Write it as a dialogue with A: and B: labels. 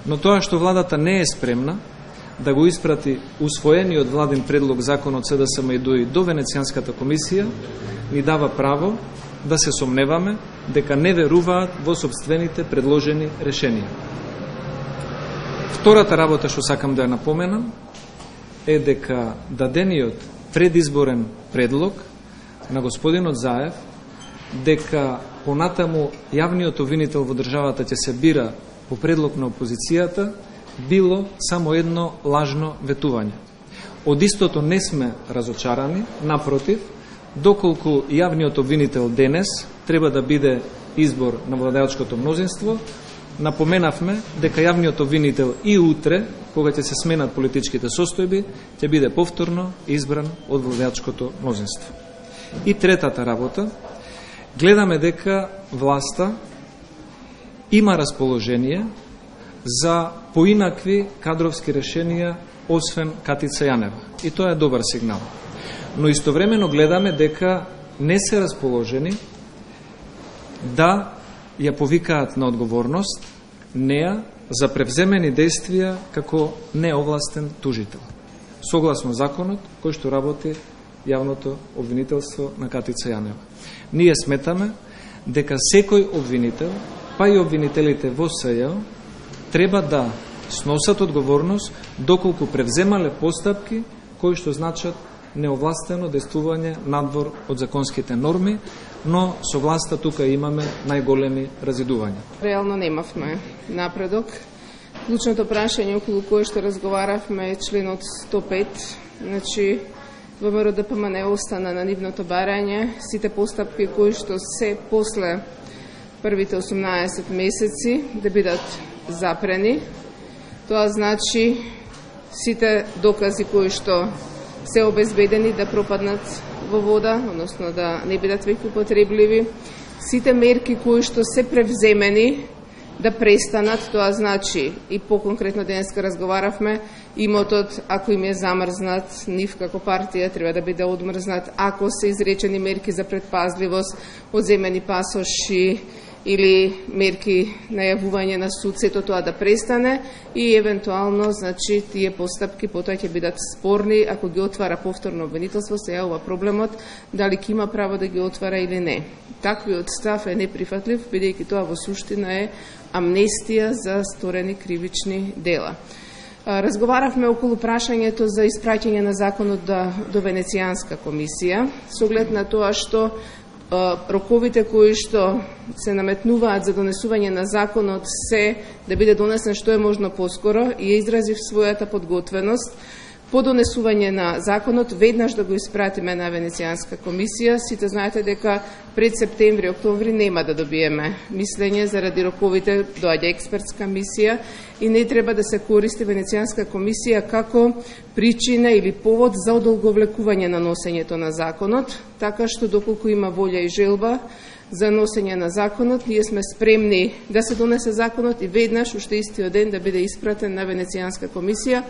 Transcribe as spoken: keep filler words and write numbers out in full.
A: Но тоа што владата не е спремна да го испрати усвоениот владин предлог закон од С Д С М и Д У И до Венецијанската комисија, ни дава право да се сомневаме дека не веруваат во собствените предложени решенија. Втората работа што сакам да ја напоменам е дека дадениот предизборен предлог на господинот Заев дека понатаму јавниот обвинител во државата ќе се бира по предлог на опозицијата било само едно лажно ветување. Од истото не сме разочарани, напротив, доколку јавниот обвинител денес треба да биде избор на владеачкото мнозинство, напоменавме дека јавниот обвинител и утре, кога ќе се сменат политичките состојби, ќе биде повторно избран од владеачкото мнозинство. И третата работа, гледаме дека власта има расположение за поинакви кадровски решенија освен Катица Јанева. И тоа е добар сигнал. Но истовремено гледаме дека не се расположени да ја повикаат на одговорност неа за превземени действија како неовластен тужител, согласно законот кој што работи јавното обвинителство на Катица Јанева. Ние сметаме дека секој обвинител, па и обвинителите во С Ј треба да сносат одговорност доколку превземале постапки кои што значат неовластено действување надвор од законските норми, но со власта тука имаме најголеми разидувања.
B: Реално немавме напредок. Клучното прашање околу кое што разговаравме е членот сто пет, значи Во М Р Д П М Н остана на нивното барање сите постапки кои што се после првите осумнаесет месеци да бидат запрени. Тоа значи сите докази кои што се обезбедени да пропаднат во вода, односно да не бидат веќе употребливи. Сите мерки кои што се превземени да престанат, тоа значи и по-конкретно денеска разговаравме, имотот, ако им е замрзнат, нив како партија треба да биде одмрзнат, ако се изречени мерки за предпазливост, одземени пасоши или мерки најавување на суд, сето тоа да престане и евентуално, значи, тие постапки потоа ќе бидат спорни ако ги отвара повторно обвинителство, се јавува проблемот дали ќе има право да ги отвара или не. Таквиот став е неприфатлив, бидејќи тоа во суштина е амнестија за сторени кривични дела. Разговаравме околу прашањето за испраќање на законот до, до Венецијанска комисија, со оглед на тоа што роковите кои што се наметнуваат за донесување на законот се да биде донесен што е можно поскоро и ја изразив својата подготвеност по донесување на законот веднаш да го испратиме на Венецијанска комисија. Сите знаете дека пред септември, октомври нема да добиеме мислење заради роковите, доаѓа експертска мисија и не треба да се користи Венецијанска комисија како причина или повод за одолговлекување на носењето на законот, така што доколку има волја и желба за носење на законот, ние сме спремни да се донесе законот и веднаш уште истиот ден да биде испратен на Венецијанска комисија.